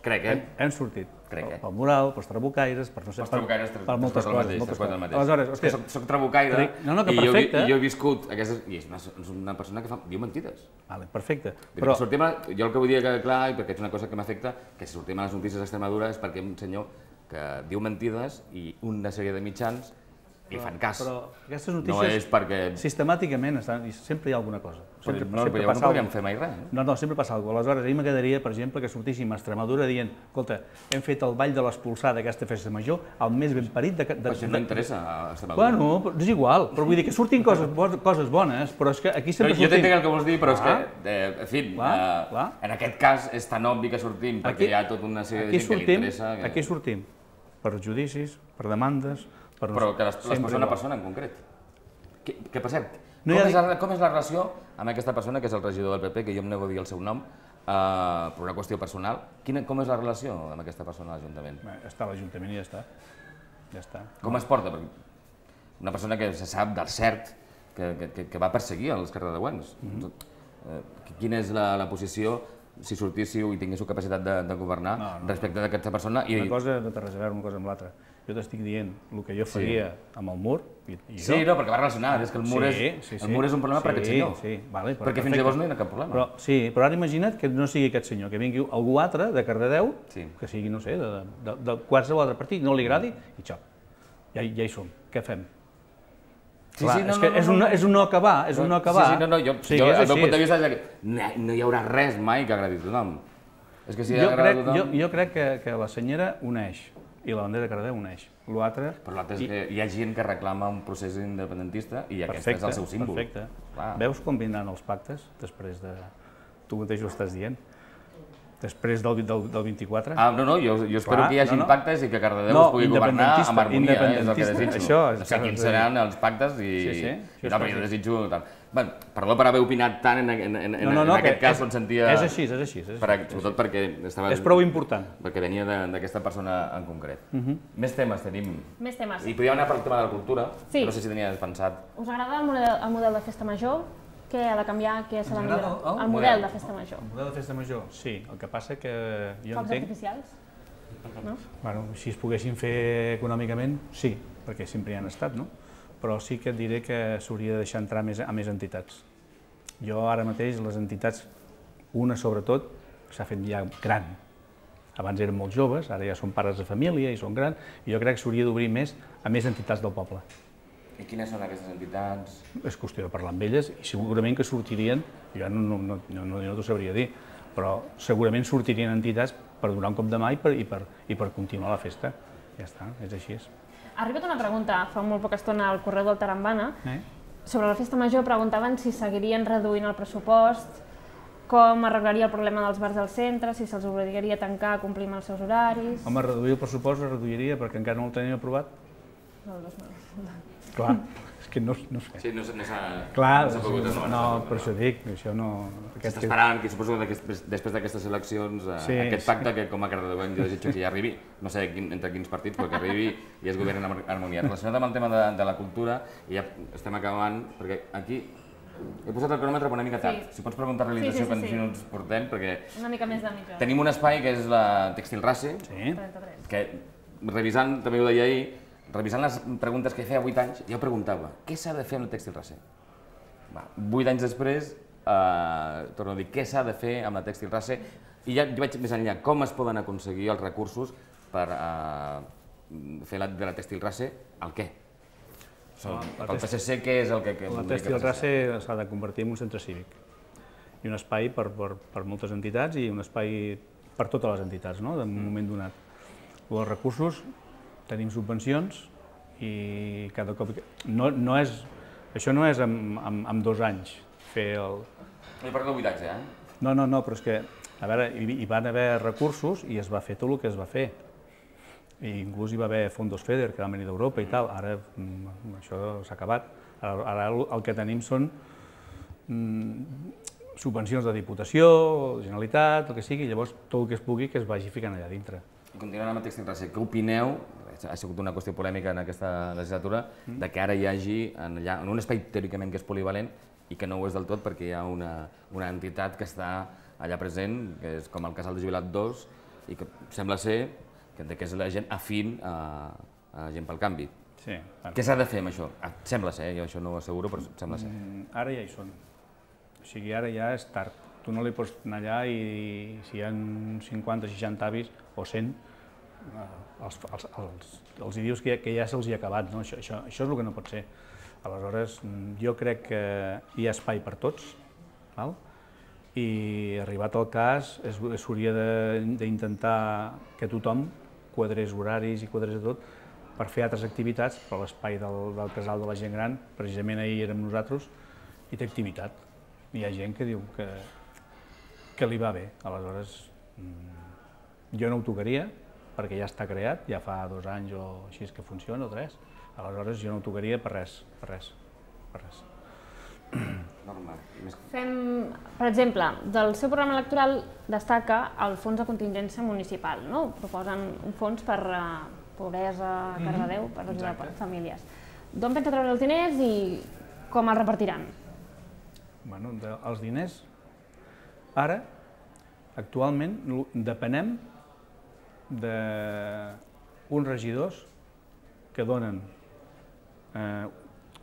Crec, Hem sortit. Pel mural, pels trabucaires, per no sé... Per moltes coses. Aleshores, és que soc trabucaire i jo he viscut aquestes... I és una persona que diu mentides. Perfecte. Jo el que vull dir que, clar, i perquè és una cosa que m'afecta, que si sortim a les notícies d'Extremadura és perquè un senyor que diu mentides i una sèrie de mitjans li fan cas. Però aquestes notícies sistemàticament sempre hi ha alguna cosa. No podríem fer mai res. No, sempre passa alguna cosa. Aleshores, a mi m'agradaria, per exemple, que sortíssim a Extremadura dient escolta, hem fet el ball de l'Espolsada d'aquesta festa major, el més ben parit de... Però això no interessa a Extremadura. Bueno, és igual, però vull dir que surtin coses bones, però és que aquí sempre sortim... Jo t'entenc el que vols dir, però és que, en fi, en aquest cas és tan obvi que sortim, perquè hi ha tota una sèrie de gent que li interessa... Aquí sortim per judicis, per demandes... Però que les posa una persona en concret. Que per cert, com és la relació amb aquesta persona, que és el regidor del PP, que jo em nego a dir el seu nom, per una qüestió personal? Com és la relació amb aquesta persona a l'Ajuntament? Està a l'Ajuntament i ja està. Com es porta? Una persona que se sap del cert que va perseguir els cardedeuencs. Quina és la posició, si sortíssiu i tinguéssiu capacitat de governar, respecte d'aquesta persona? Una cosa no té res a veure una cosa amb l'altra. Jo t'estic dient el que jo faria amb el mur i jo... Sí, no, perquè va relacionat, és que el mur és un problema per aquest senyor. Perquè fins llavors no hi ha cap problema. Sí, però ara imagina't que no sigui aquest senyor, que vingui algú altre de Cardedeu, que sigui, no sé, de qualsevol altre partit, no li agradi, i xop. Ja hi som. Què fem? És un no acabar, és un no acabar. Jo, el meu punt de vista és que no hi haurà res mai que agradi a tothom. És que si agrada a tothom... Jo crec que la senyera uneix. I la bandera de Cardedeu uneix. Però l'altre és que hi ha gent que reclama un procés independentista i aquest és el seu símbol. Perfecte. Veus com vindran els pactes després de... Tu mateix ho estàs dient. Després del 24. No, jo espero que hi hagi pactes i que Cardedeu es pugui governar amb harmonia, és el que desitjo. No sé quins seran els pactes i jo desitjo... Perdó per haver opinat tant en aquest cas on sentia... És així. Sobretot perquè estava... És prou important. Perquè venia d'aquesta persona en concret. Més temes tenim. Més temes. I podíem anar per el tema de la cultura, no sé si tenies pensat. Us agrada el model de festa major? Què ha de canviar, què s'ha de millorar? El model de festa major. El model de festa major, sí. El que passa que jo entenc... Focs artificials? No? Bueno, si es poguessin fer econòmicament, sí, perquè sempre hi han estat, no? però sí que et diré que s'hauria de deixar entrar a més entitats. Jo ara mateix les entitats, una sobretot, s'ha fet ja gran. Abans eren molt joves, ara ja són pares de família i són grans, i jo crec que s'hauria d'obrir més a més entitats del poble. I quines són aquestes entitats? És qüestió de parlar amb elles i segurament que sortirien, jo no t'ho sabria dir, però segurament sortirien entitats per donar un cop de mà i per continuar la festa. Ja està, és així. Ha arribat una pregunta fa molt poca estona al correu del Tarambana. Sobre la festa major preguntaven si seguirien reduint el pressupost, com arreglaria el problema dels bars del centre, si se'ls obligaria a tancar, a complir amb els seus horaris... Home, reduir el pressupost es reduiria perquè encara no el tenim aprovat. Clar, és que no sé. Sí, no s'ha pogut anomenar. No, per això dic, això no... S'està esperant, que suposo que després d'aquestes eleccions, aquest pacte que com a cardedeuenc jo desitjo que ja arribi, no sé entre quins partits, però que arribi i es governi en harmonia. Relacionat amb el tema de la cultura, i ja estem acabant, perquè aquí he posat el cronòmetre una mica tard. Si pots preguntar a realització quants minuts portem, perquè... Una mica més de mitja hora. Tenim un espai que és la Tèxtil Race, que revisant, també ho deia ahir, revisant les preguntes que feia 8 anys, jo preguntava, què s'ha de fer amb la Tèxtil Race? 8 anys després, torno a dir, què s'ha de fer amb la Tèxtil Race? I ja vaig més enllà, com es poden aconseguir els recursos per fer de la Tèxtil Race el què? Pel PSC, què és el que... La Tèxtil Race s'ha de convertir en un centre cívic i un espai per moltes entitats i un espai per totes les entitats, en un moment donat. Els recursos, tenim subvencions i cada cop... Això no és en 2 anys fer el... No hi parlo d'habitatge, No, però és que, a veure, hi van haver recursos i es va fer tot el que es va fer. I inclús hi va haver fondos FEDER que van venir d'Europa i tal, ara això s'ha acabat. Ara el que tenim són subvencions de Diputació, Generalitat, el que sigui, i llavors tot el que es pugui que es vagi ficant allà dintre. I continuant amb el Tèxtil Race, què opineu, ha sigut una qüestió polèmica en aquesta legislatura, de que ara hi hagi en un espai teòricament que és polivalent i que no ho és del tot perquè hi ha una entitat que està allà present, que és com el Casal de Jubilat 2, i que sembla ser que és la gent afín a Gent pel Canvi. Sí. Què s'ha de fer amb això? Sembla ser, jo això no ho asseguro, però sembla ser. Ara ja hi són. O sigui, ara ja és tard. Tu no li pots anar allà i si hi ha 50, 60 avis o 100, els hi dius que ja se'ls hi ha acabat. Això és el que no pot ser. Aleshores, jo crec que hi ha espai per tots, i arribat el cas s'hauria d'intentar que tothom quadrés horaris i quadrés de tot per fer altres activitats, però l'espai del casal de la gent gran, precisament ahir érem nosaltres, i té activitat. Hi ha gent que diu que li va bé, aleshores jo no ho tocaria perquè ja està creat, ja fa 2 anys o així que funciona, o 3, aleshores jo no ho tocaria per res. Fem, per exemple, del seu programa electoral destaca el fons de contingència municipal, no? Proposen un fons per pobresa a Cardedeu, per ajudar famílies. D'on pensa treure els diners i com els repartiran? Bueno, els diners, ara, actualment, depenem d'uns regidors que donen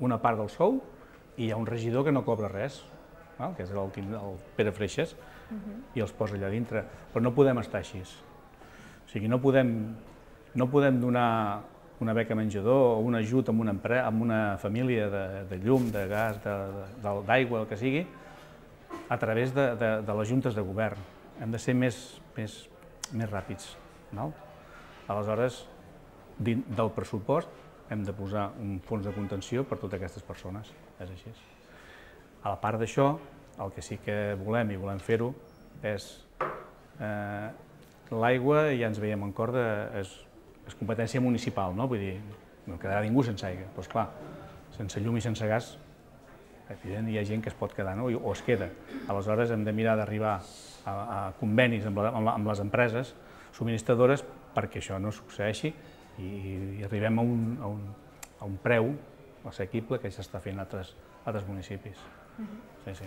una part del sou i hi ha un regidor que no cobra res, que és el Pere Freixas, i els posa allà dintre. Però no podem estar així. O sigui, no podem donar una beca menjador o un ajut a una família de llum, de gas, d'aigua, el que sigui, a través de les juntes de govern. Hem de ser més ràpids. Aleshores, del pressupost hem de posar un fons de contenció per a totes aquestes persones. És així. A la part d'això, el que sí que volem i volem fer-ho és l'aigua, ja ens veiem en corda, és competència municipal, no? Vull dir, no quedarà ningú sense aigua. Però, esclar, sense llum i sense gas, evident, hi ha gent que es pot quedar, no? O es queda. Aleshores, hem de mirar d'arribar a convenis amb les empreses subministradores perquè això no succeeixi i arribem a un preu assequible que s'està fent a altres municipis. Sí.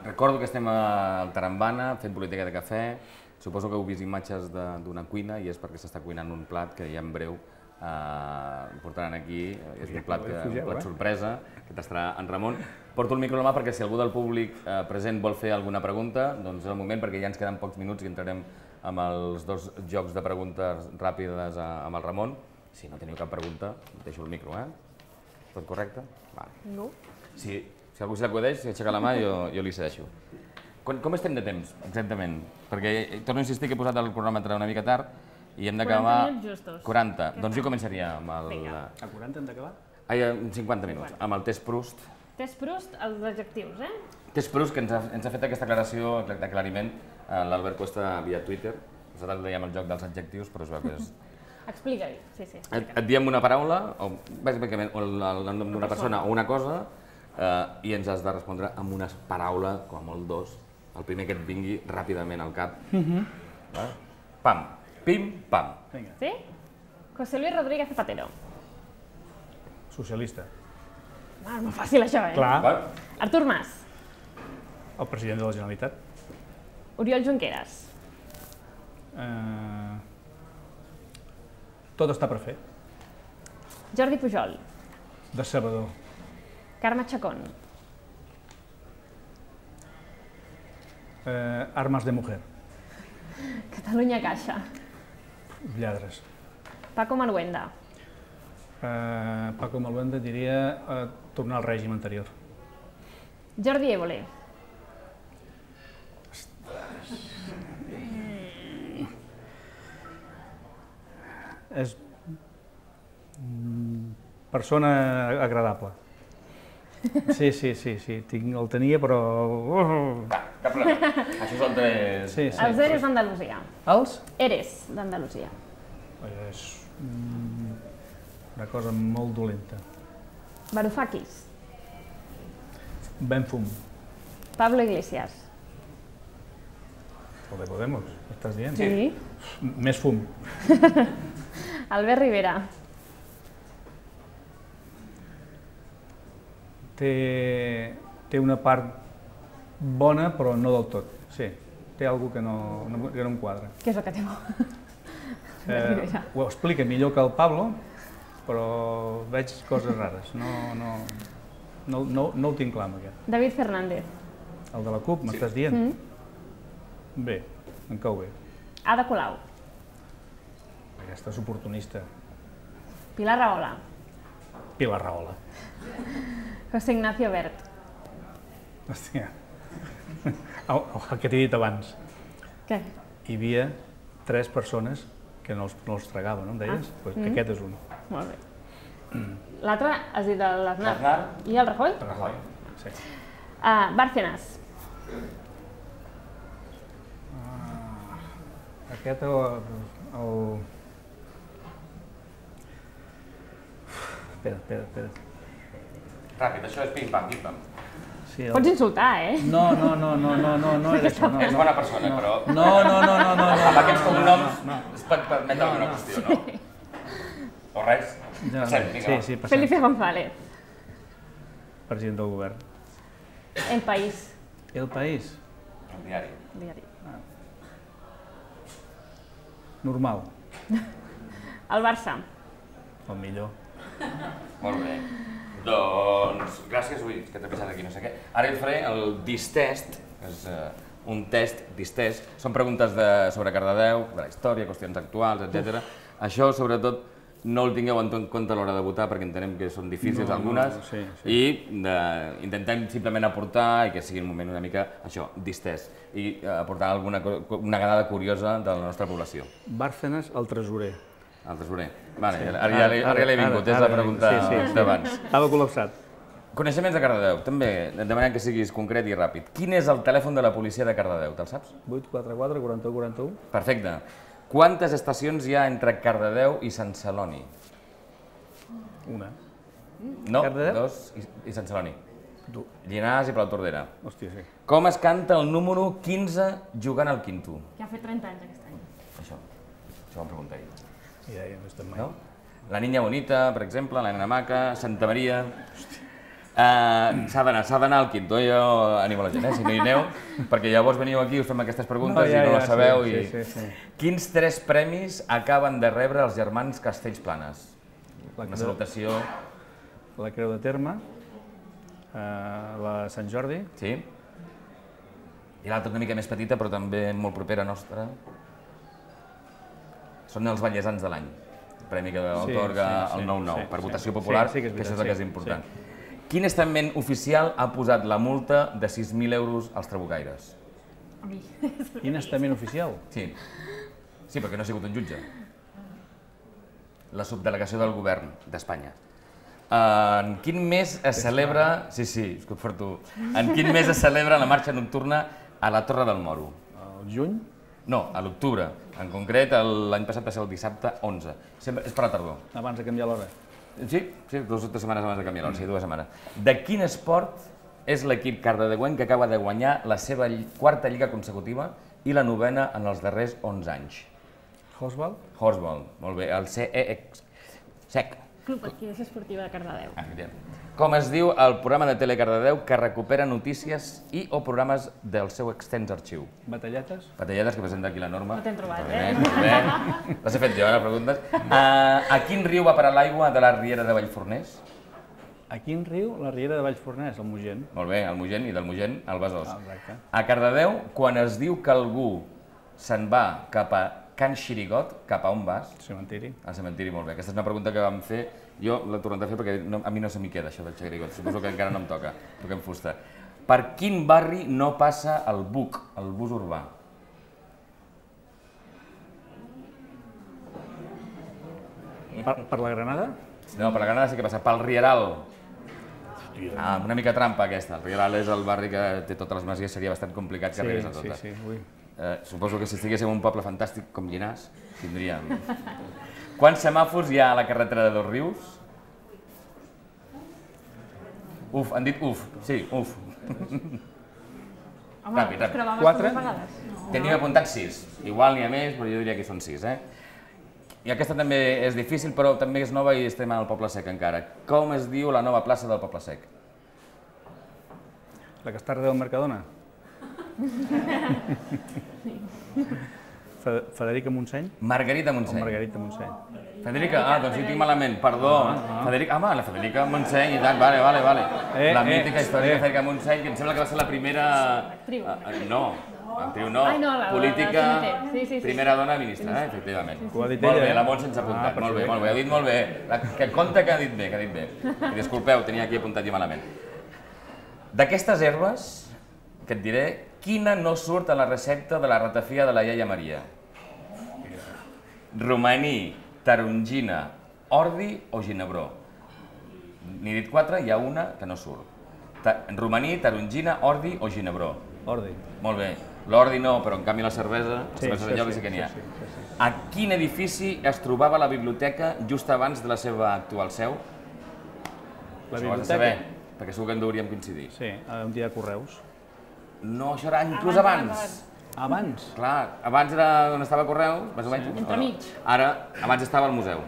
Recordo que estem al Tarambana fent política de cafè. Suposo que heu vist imatges d'una cuina i és perquè s'està cuinant un plat que ja en breu portaran aquí, és un plat sorpresa, que tastarà en Ramon. Porto el micro a la mà perquè si algú del públic present vol fer alguna pregunta, doncs és el moment, perquè ja ens queden pocs minuts i entrarem amb els 2 jocs de preguntes ràpides amb el Ramon. Si no teniu cap pregunta, deixo el micro, Tot correcte? No. Si algú se l'acudeix, si aixeca la mà, jo li cedeixo. Com estem de temps, exactament? Perquè torno a insistir que he posat el cronòmetre una mica tard i hem d'acabar... 40 minuts justos. 40. Doncs jo començaria amb el... Vinga. A 40 hem d'acabar? Ai, 50 minuts, amb el test Proust. Test Proust, els adjectius, Test Proust, que ens ha fet aquesta aclaració d'aclariment l'Albert Cuesta via Twitter. Nosaltres dèiem el joc dels adjectius, però es veu que és... Explica-hi, sí. Et diem una paraula, o bàsicament el nom d'una persona o una cosa, i ens has de respondre amb una paraula, com a molt 2, el primer que et vingui ràpidament al cap. Pam, pim, pam. Sí? José Luis Rodríguez Zapatero. Socialista. És molt fàcil això, Clar. Artur Mas. El president de la Generalitat. Oriol Junqueras. Tot està per fer. Jordi Pujol. Decebedor. Carme Chacón. Armes de mujer. Catalunya Caixa. Lladres. Paco Maluenda. Paco Maluenda diria tornar al règim anterior. Jordi Évole. És persona agradable. Sí, el tenia, però... Cap problema. Això és el test... Els Eres d'Andalusia. Els? Eres d'Andalusia. És una cosa molt dolenta. Varoufakis. Ben fum. Pablo Iglesias. El de Podemos, estàs dient? Sí. Més fum. Albert Rivera. Té una part bona, però no del tot. Sí, té alguna que no em quadra. Què és el que té bo? Ho explica millor que el Pablo, però veig coses rares. No ho tinc clar, amb aquest. David Fernández. El de la CUP, m'estàs dient? Bé, em cau bé. Ada Colau. Aquesta és oportunista. Pilar Rahola. Pilar Rahola. José Ignacio Wert. Hòstia, el que t'he dit abans. Què? Hi havia 3 persones que no els tragava, no em deies? Aquest és un. Molt bé. L'altre has dit l'Aznar. I el Rajoy? El Rajoy, sí. Bárcenas. Aquest Espera. Ràpid, això és pim-pam, pim-pam. Pots insultar, No era això. És bona persona, però... No. Amb aquests cognoms es pot permetre alguna qüestió, no? O res? Passem, vinga. Sí, passem. Felipe González. President del govern. El País. El País? El diari. Diari. Normal. El Barça. El millor. Molt bé. Doncs, gràcies, que t'he pensat aquí, no sé què. Ara et faré el distest, que és un test, distest. Són preguntes sobre Cardedeu, de la història, qüestions actuals, etc. Això, sobretot, no el tingueu en compte a l'hora de votar, perquè entenem que són difícils algunes, i intentem simplement aportar, i que sigui un moment una mica, això, distest, i aportar una dada curiosa de la nostra població. Bárcenas, el tresorer. El tresorer. Vale, ara ja l'he vingut, és la pregunta d'abans. Estava col·lapsat. Coneixements de Cardedeu, també, demanem que siguis concret i ràpid. Quin és el telèfon de la policia de Cardedeu, te'l saps? 844 41 41. Perfecte. Quantes estacions hi ha entre Cardedeu i Sant Celoni? Una. No, 2 i Sant Celoni. Llinars i Palautordera. Hòstia, sí. Com es canta el número 15 jugant al quinto? Que ha fet 30 anys aquest any. Això vam preguntar ahir. Ja no estem mai. No? La Niña Bonita, per exemple, la Nena Maca, Santa Maria... S'ha d'anar al quinto, jo animo la gent, si no hi aneu, perquè llavors veniu aquí, us fem aquestes preguntes i no les sabeu. Quins 3 premis acaben de rebre els germans Castells Planes? Una salutació. La Creu de Terme, la Sant Jordi. Sí. I l'altra una mica més petita, però també molt propera nostra. Són els ballesans de l'any. El premi que atorga el 9-9, per votació popular, que això és el que és important. Quin estament oficial ha posat la multa de 6.000 euros als trabucaires? Quin estament oficial? Sí. Sí, perquè no ha sigut un jutge. La subdelegació del govern d'Espanya. En quin mes es celebra... Sí, escut per tu. En quin mes es celebra la marxa nocturna a la Torre del Moro? El juny? No, a l'octubre. En concret, l'any passat va ser el dissabte 11. És per la tardor. Abans de canviar l'hora. Sí, 2 o 3 setmanes abans de canviar l'hora, sí, 2 setmanes. De quin esport és l'equip cardedeuenc que acaba de guanyar la seva quarta lliga consecutiva i la novena en els darrers 11 anys? Horsball? Horsball, molt bé. El SEC. Club Adquisició Esportiva de Cardedeu. Com es diu el programa de Tele Cardedeu que recupera notícies i o programes del seu extens arxiu? Batalletes? Batalletes, que presenta aquí la Norma. No t'hem trobat, Molt bé. Les he fet jo, les preguntes. A quin riu va parar l'aigua de la riera de Vallforners? A quin riu? La riera de Vallforners, el Mogent. Molt bé, el Mogent, i del Mogent al Besòs. Exacte. A Cardedeu, quan es diu que algú se'n va cap a Can Xirigot, cap a on vas? Cementiri. Al cementiri, molt bé. Aquesta és una pregunta que vam fer, jo l'he tornat a fer perquè a mi no se m'hi queda això del Xirigot, suposo que encara no em toca, toquem fusta. Per quin barri no passa el BUC, el bus urbà? Per la Granada? No, per la Granada sí que passa, pel Rieral. Una mica trampa aquesta, el Rieral és el barri que té totes les masies, seria bastant complicat que arribés a totes. Suposo que si estiguéssim en un poble fantàstic com Llinars, tindríem... Quants semàfors hi ha a la carretera de Dosrius? Uf, han dit uf, sí, uf. Ràpid. 4? Tenim apuntat 6. Igual n'hi ha més, però jo diria que són 6, I aquesta també és difícil, però també és nova i estem al Poble Sec encara. Com es diu la nova plaça del Poble Sec? La que està darrere del Mercadona? Federica Montseny? Margarita Montseny. Margarita Montseny. Federica? Doncs sí, tinc malament, perdó. La Federica Montseny, i tant, vale. La mítica història de Federica Montseny, que em sembla que va ser la primera... Actriu. No, actriu no. Política, primera dona ministra, efectivament. Ho ha dit Molt ella, bé, la Montse ens ha apuntat, molt bé, ho ha dit molt bé. Que compte que ha dit bé, I disculpeu, tenia aquí apuntat jo malament. D'aquestes herbes, que et diré, quina no surt a la recepta de la ratafia de la iaia Maria? Romaní, tarongina, ordi o ginebró? N'he dit 4, hi ha una que no surt. Romaní, tarongina, ordi o ginebró? Ordi. Molt bé. L'ordi no, però en canvi la cervesa de lloc sí que n'hi ha. A quin edifici es trobava la biblioteca just abans de la seva actual seu? La biblioteca? Això ho has de saber, perquè segur que en hauríem coincidir. Sí, un dia de Correus. No, això era inclús abans. Abans? Clar, abans era on estava Correus, més o menys. Entremig. Ara, abans estava al museu.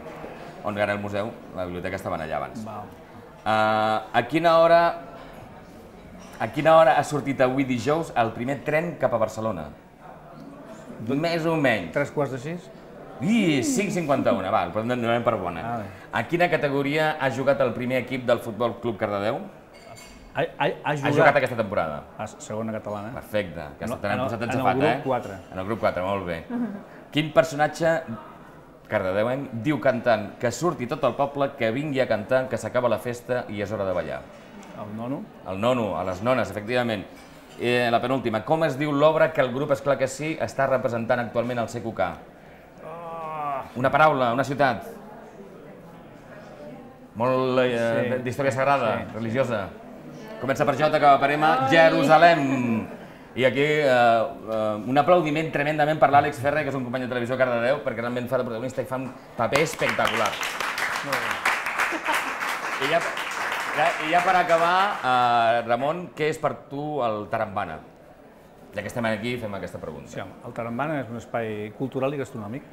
On era el museu, la biblioteca estaven allà abans. A quina hora ha sortit avui dijous el primer tren cap a Barcelona? Més o menys. 3:45? 5:51, val, però no anem per bona. A quina categoria ha jugat el primer equip del Futbol Club Cardedeu? Ha jugat aquesta temporada. A segona catalana. Perfecte, que t'han posat enxafat, En el grup 4. En el grup 4, molt bé. Quin personatge cardedeuenc diu cantant que surti tot el poble, que vingui a cantar, que s'acaba la festa i és hora de ballar? El nono? El nono, a les nones, efectivament. La penúltima, com es diu l'obra que el grup Esclar que sí està representant actualment al CQK? Una paraula, una ciutat. Molt d'història sagrada, religiosa. Comença per J, acaba per M, Jerusalem. I aquí un aplaudiment tremendament per l'Àlex Ferrer, que és un company de televisió a Cardedeu, perquè realment fa de protagonista i fa un paper espectacular. I ja per acabar, Ramon, què és per tu el Tarambana? Ja que estem aquí, fem aquesta pregunta. Sí, el Tarambana és un espai cultural i gastronòmic.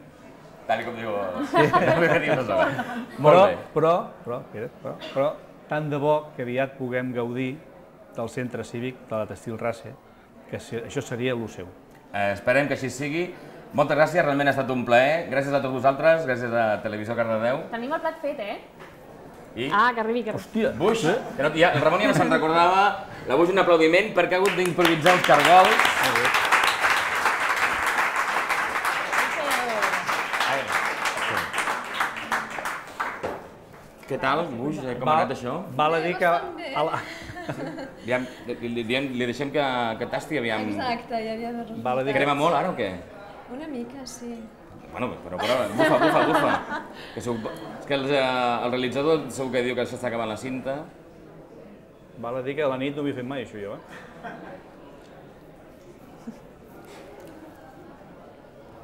Tal com diu... Molt bé. Però tant de bo que aviat puguem gaudir del centre cívic de la Textil Race, que això seria el seu. Esperem que així sigui. Moltes gràcies, realment ha estat un plaer. Gràcies a tots vosaltres, gràcies a Televisió Cardedeu. Tenim el plat fet, I? Ah, que arribi, que arribi. Hòstia! Buix, que no, el Ramon ja no se'n recordava. La Buix un aplaudiment perquè ha hagut d'improvisar uns cargols. Què tal, Buix? Com ha anat això? Val a dir que... Li deixem que tasti, aviam. Exacte, ja havia de Val a dir Crema molt ara o què? Una mica, sí. Bueno, però bufa. És que el realitzador segur que diu que s'està acabant la cinta. Val a dir que a la nit no m'he fet mai això, jo,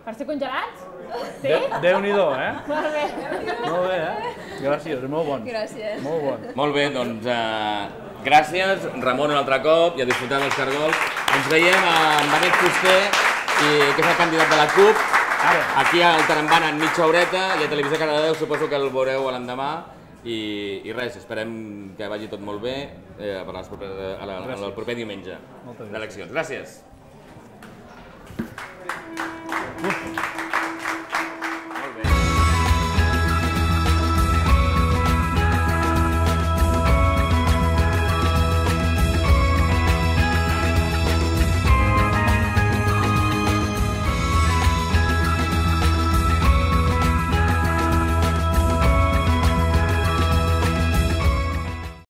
Per ser congelats? Sí? Déu-n'hi-do, Molt bé. Molt bé, Gràcies, molt bon. Gràcies. Molt bon. Molt bé, doncs gràcies, Ramon, un altre cop, i a disfrutar dels cargols. Ens veiem amb Benet Fuster, que és el candidat de la CUP, aquí al Tarambana en mitja horeta, i a Televisió Cardedeu suposo que el veureu l'endemà. I res, esperem que vagi tot molt bé el proper diumenge d'eleccions. Gràcies.